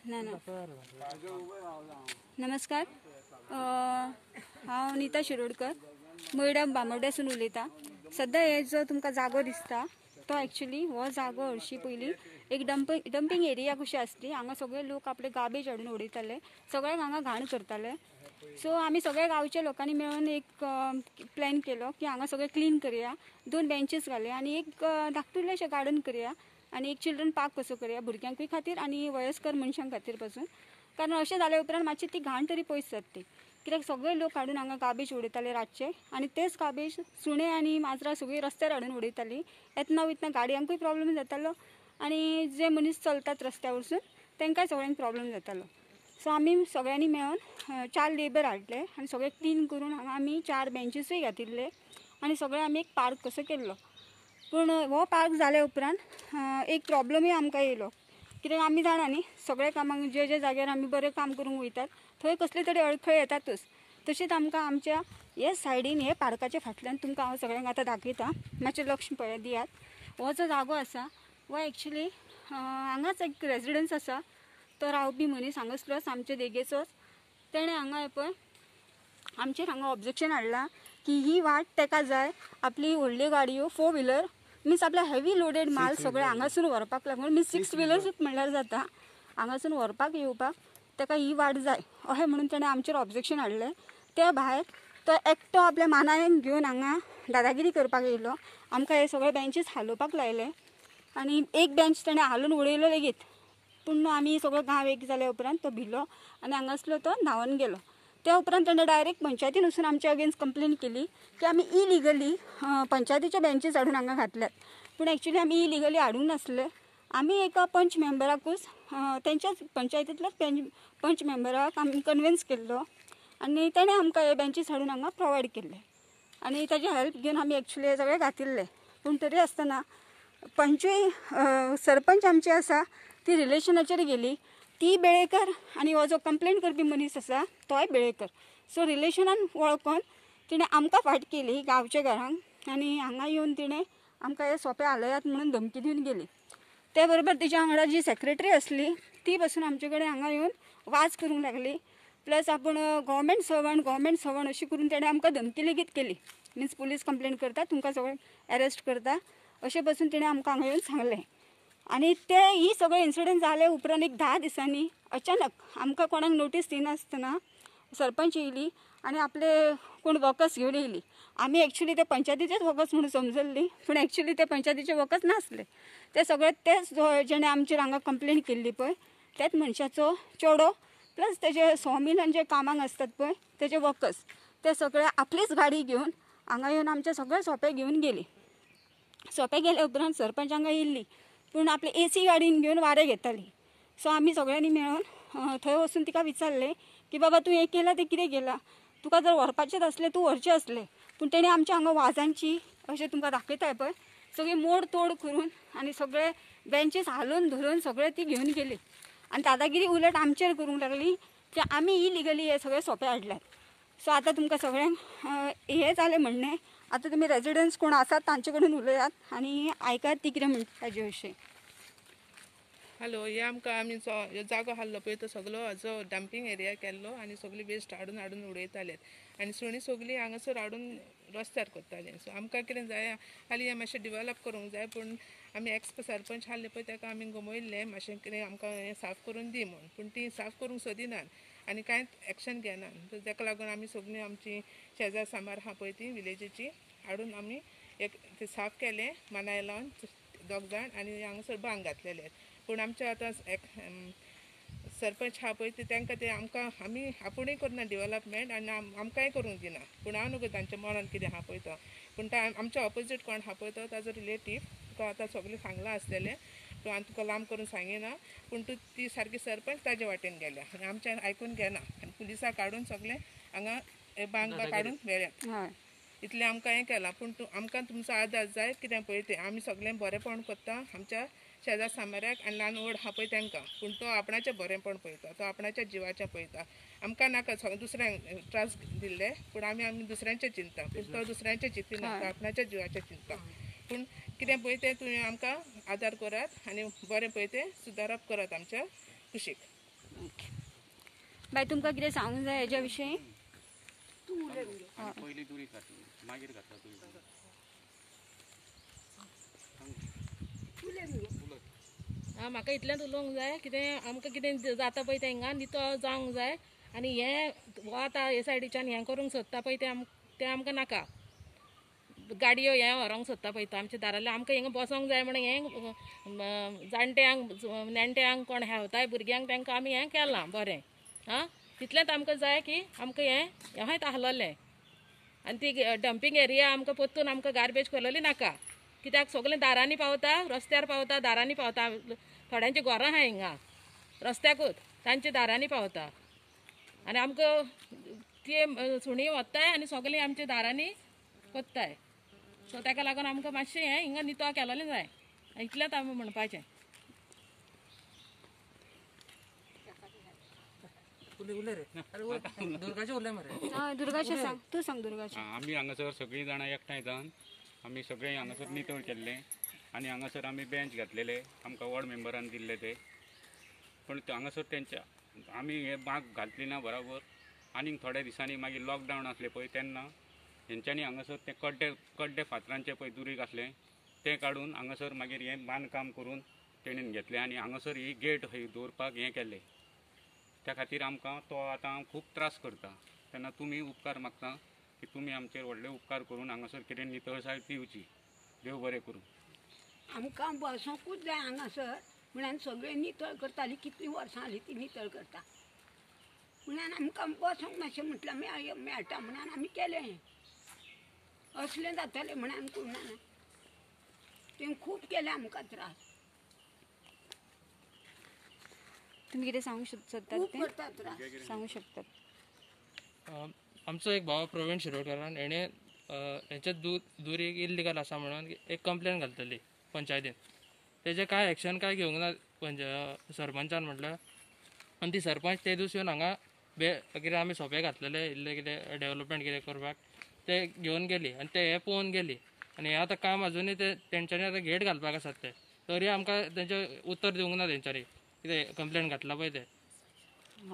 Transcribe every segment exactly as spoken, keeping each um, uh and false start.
ना ना नमस्कार, हांव नीता शिरोडकर मयडा बांबोड्यासून उलयतां. सद्या हे जो तुमकां जागो दिसता तो एक्चुली हो जागो हरशीं पयलीं एक डम्प डंपींग एरिया कशी आसली. हांगा सगळे लोक आपले गार्बेज हाडून उडयताले, सगळ्यांक हांगा घाण करताले. सो आमी सगळ्या गांवच्या लोकांनी मेळून एक प्लॅन केलो की हांगा सगळें क्लीन करया, दोन बेंचीस घाले आनी एक धाकटुलेशें गार्डन करया आनी एक चिल्ड्रन पार्क कसो करया भुरग्यांकूय खातीर आनी वयस्कर मनशां खातीर पासून. कारण अशें जाल्या उपरांत मातशी ती घाण तरी पयस जाता. कित्याक सगळे लोक हाडून हांगा गार्बेज उडयताले रातचे आनी तेच गार्बेज सुणे आनी माजरां सगळीं रस्त्यार हाडून उडयतालीं. येतना वयतना गाडयांकूय प्रॉब्लम जातालो आनी जे मनीस चलतात रस्त्या वरसून तांकांय सगळ्यांक प्रॉब्लम जातालो. सो आमी सगळ्यांनी मेळून चार लेबर हाडले आनी सगळें क्लीन करून हांगा आमी चार बेंचीसूय घातिल्ले आनी सगळें आमी एक पार्क कसो केल्लो. पूण हो पार्क जाल्या उपरांत एक प्रॉब्लमूय आमकां येयलो. कित्याक आमी जाणा न्ही सगळ्या कामांक जे जे जाग्यार आमी बरें काम करूंक वयतात थंय कसले तरी अडखळ येतातूच. तशेंच आमकां आमच्या हे सायडीन हे पार्काच्या फाटल्यान तुमकां हांव सगळ्यांक आतां दाखयता, मातशें लक्ष पळय दियात. हो जो जागो आसा हो एक्चुली हांगाच एक रेजिडन्स आसा, तो रावपी मनीस हांगासलोच आमचे देगेचोच. तेणें हांगा पळय आमचेर हांगा ऑब्जेक्शन हाडलां की ही वाट तेका जाय, आपली व्हडल्यो गाडयो फोर व्हिलर मिन्स आपल्या हेवी लोडेड माल सगळें हांगासून व्हरपाक लागून मिन्स सिक्स व्हिलर्सूच म्हणल्यार जाता, हांगासून व्हरपाक येवपाक तेका ही वाट जाय अशें म्हणून तेणें आमचेर ऑब्जेक्शन हाडलें. त्या भायर तो एकटो आपल्या मानायन घेवन हांगा दादागिरी करपाक येयलो, आमकां हे सगळे बेंचीस हालोवपाक लायले आनी एक बेंच तेणें हालोवन उडयलो लेगीत. पूण आमी सगळो गांव एक जाल्या उपरांत तो भिलो आनी हांगासलो तो न्हांवन गेलो. त्या उपरांत तेणें डायरेक्ट पंचायतीन वचून आमच्या अगेन्स्ट कंप्लेन केली की आमी इलिगली पंचायतीचे बेंचीस हाडून हांगा घातल्यात. पूण एक्चुली आमी इलिगली हाडूंक नासले. आमी एका पंच मेंबराकूच तेंच्याच पंचायतींतल्याच पंच मेंबराक आमी कन्विन्स केल्लो आनी तेणें आमकां हे बेंचीस हाडून हांगा प्रोवायड केल्ले आनी ताजी हेल्प घेवन आमी एक्चुली हे सगळें घातिल्ले. पूण तरी आसतना पंचूय सरपंच आमची आसा ती रिलेशनाचेर गेली, ती बेळेकर आनी हो जो कंप्लेन करपी मनीस आसा तोय बेळेकर. सो रिलेशनान वळखून तिणें आमकां फाट केली गांवच्या घरांक आनी हांगा येवन तिणें आमकां हे सोंपे हालयात म्हणून धमकी दिवन गेली. ते बरोबर तिच्या वांगडा जी सेक्रेटरी आसली ती बसून आमचे कडेन हांगा येवन वाज करूंक लागली. प्लस आपूण गव्हर्मेंट सर्वंट गव्हर्मेंट सर्वंट अशी करून तेणें आमकां धमकी लेगीत केली. मिन्स पुलीस कंप्लेन करता तुमकां सगळें एरेस्ट करता अशें बसून तिणें आमकां हांगा येवन सांगलें. आनी ते ही सगळे इन्सिडंट जाले उपरांत एक धा दिसांनी अचानक आमकां कोणाक नोटीस दिनासतना सरपंच येयली आनी आपले कोण वर्कर्स घेवन येयली. आमी एक्चुली ते पंचायतीचेच वर्कर्स म्हणून समजल्ली, पूण एक्चुली ते पंचायतीचे वर्कर्स नासले. ते सगळे तेच जेणे आमचेर हांगा कंप्लेन केल्ली पळय त्याच मनशाचो चेडो प्लस तेजे सॉमिलान जे कामाक आसतात पळय तेजे वर्कर्स ते सगळे आपलीच गाडी घेवन हांगा येवन आमचे सगळे सोपे घेवन गेली. सोपे गेले उपरांत सरपंच हांगा येयल्ली पूण आपले ए सी गाडीन घेवन वारें घेताली. सो आमी सगळ्यांनी मेळून थंय वचून तिका विचारलें की बाबा तूं हें केलां तें कितें केलां, तुका जर व्हरपाचेंच आसलें तूं व्हरचें आसलें. पूण तेणें आमच्या हांगा वाजांची अशें तुमकां दाखयता पळय सगळी मोड तोड करून आनी सगळे बेंचीस हालोवन धरून सगळें ती घेवन गेली आनी दादागिरी उलट आमचेर करूंक लागली की आमी इलिगली हे सगळे सोंपे हाडल्यात. सो आतां तुमकां सगळ्यांक हें जालें म्हणणें. आतां तुमी रेजिडंट्स कोण आसात तांचे कडेन उलयात आनी आयकात ती कितें म्हणटा ताजे विशीं. हॅलो, हे आमकां आमी जागो आहलो पळय तो सगलो हाजो डंपींग एरिया केल्लो आनी सगली वेस्ट हाडून हाडून उडयताले आनी सुणी सगलीं हांगासर हाडून रस्त्यार करताले. सो आमकां कितें जाय हालीं हें मातशें डिवेलप करूंक जाय, पूण आमी एक्स सरपंच आहले पळय ताका आमी गमयल्लें मातशें कितें आमकां हें साफ करून दी म्हूण, पूण ती साफ करूंक सोदिनात आनी कांयच एक्शन घेनात. ताका लागून आमी सगळीं आमची शेजार सामार आहा पळय ती विलेजीची हाडून आमी एक ते साफ केलें मानाय लावन दोग जाण आनी हांगासर बांग घातलेले. पूण आमचे आतां एक सरपंच आहा पळय ते तांकां ते आमकां आमी आपुणूय करना डिवेलपमेंट आनी आमकांय करूंक दिना. पूण हांव न्हू तांच्या मनान कितें आहा पळय तो, पूण आमच्या ऑपोजीट कोण आहा पळय तो ताजो रिलेटीव तुका आतां सगळें सांगलां आसतलें, पूण हांव तुका लांब करून सांगिना. पूण तूं ती सारकी सरपंच ताजे वाटेन गेल्या आनी आमच्यान आयकून घेना आनी पुलिसाक काडून सगळें हांगा बांग काडून व्हेल्यात. इतलें आमकां हें केलां. पूण तूं आमकां तुमचो आदार जाय कितें पळय तें आमी सगळें बरेंपण करता आमच्या शेजार सामाऱ्याक आनी ल्हान व्हड आहा पळय तांकां, पूण तो आपणाचें बरेंपण पळयता, तो आपणाच्या जिवाचें पळयता. आमकां नाका दुसऱ्यांक त्रास दिल्ले, पूण आमी आमी दुसऱ्यांचें चिंता, पूण तो दुसऱ्यांचें चिंतिना, तो आपणाच्या जिवाचें चिंता. पूण कितें पळय तें तुमी आमकां आदार करात आनी बरें पळय तें सुदारप करात आमच्या कुशीक. बाय तुमकां कितें सांगूंक जाय हेज्या विशीं? पयलीं दुरी घातली मागीर घातला तुवें. आं, म्हाका इतलेंच उलोवंक जाय कितें आमकां कितें जाता पळय तें हिंगा नितळ जावंक जाय आनी हें हो आतां हे सायडीच्यान हें करूंक सोदता पळय तें आम तें आमकां नाका. गाडयो हें व्हरोंक सोदता पळय तो आमच्या दारांतल्यान आमकां हिंगा बसोंक जाय म्हणून हें जाणट्यांक नेणट्यांक कोण हेवताय भुरग्यांक तांकां आमी हें केलां बरें. आं, तितलेंच आमकां जाय की आमकां हें हेंच आहलोलें आनी ती डंपींग एरिया आमकां परतून आमकां गार्बेज केलोली नाका. कित्याक सगळें दारांनी पावता, रस्त्यार पावता, दारांनी पावता. थोड्यांची घरां आहा हिंगा रस्त्याकूच, तांच्या दारांनी पावता आनी आमकां ते सुणी वत्ताय आनी सगळीं आमच्या दारांनी कोत्ताय. सो ताका लागून आमकां मातशें हें हिंगा नितळ केलोलें जाय, इतलेंच आमी म्हणपाचें. दुर्गाचें सांग तूं, सांग दुर्गाचें. आमी हांगासर सगळीं जाणां एकठांय जावन आमी सगळें हांगासर नितळ केल्लें आनी हांगासर आमी बेंच घातलेले आमकां वॉर्ड मेंबरान दिल्ले ते. पूण हांगासर तेंच्या आमी हे बाग घातली ना बराबर आनीक थोड्या दिसांनी मागीर लॉकडावन आसलें पळय तेन्ना हेंच्यांनी हांगासर ते कड्डे कड्डे फातरांचे पळय दुरीग आसलें तें काडून हांगासर मागीर हें बांदकाम करून तेणेन घेतलें आनी हांगासर ही गेट हय दवरपाक हें केलें. त्या खातीर आमकां तो आतां खूब त्रास करता. तेन्ना तुमी उपकार मागता की तुमी आमचेर व्हडले उपकार करून हांगासर कितें नितळसाण दिवची. देव बरें करूं. आमकां बसोंकूच जाय हांगासर म्हणून सगळें नितळ करताली, कितलीं वर्सां जालीं ती नितळ करता म्हणून आमकां बसोंक मातशें म्हटल्यार मेळ मेळटा म्हणून आमी केलें. असलें जातलें म्हणून करूं ना, तें खूब केलें आमकां त्रास. तुमी कितें सांगू शकतात? खूब करता त्रास. सांगू शकतात. आमचो एक भाव प्रवीण शिरोडकारान हेणें हेंचे दू दुरीग इल्लिगल आसा म्हणून एक कंप्लेन घालतली पंचायतीन. तेजें कांय एक्शन कांय घेवंक ना पंच सरपंचान म्हटल्यार. आनी ती सरपंच ते दीस येवन हांगा बे कितें आमी सोपे घातलेले इल्ले कितें डेवलपमेंट कितें करपाक ते घेवन गेली आनी ते हें पळोवन गेली. आनी हें आतां काम आजुनूय ते तेंच्यांनी आतां गेट घालपाक आसात ते तरी आमकां तेंचें उत्तर दिवंक ना तेंच्यांनी कितें कंप्लेन घातला पळय ते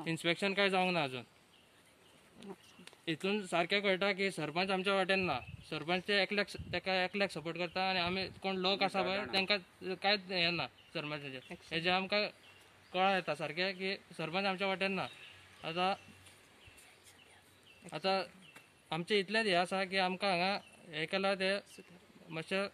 इन्स्पेक्शन कांय जावंक ना अजून. हितून सारकें कळटा की सरपंच आमच्या वाटेन ना. सरपंच ते एकल्याक तेका एकल्याक सपोर्ट करता आनी आमी कोण लोक आसा पळय तांकां कांयच हें ना सरपंचाचें. हेजें आमकां कळोन येता सारकें की सरपंच आमच्या वाटेन ना. आतां आतां आमचें इतलेंच हें आसा की आमकां हांगा हें केलां तें मातशें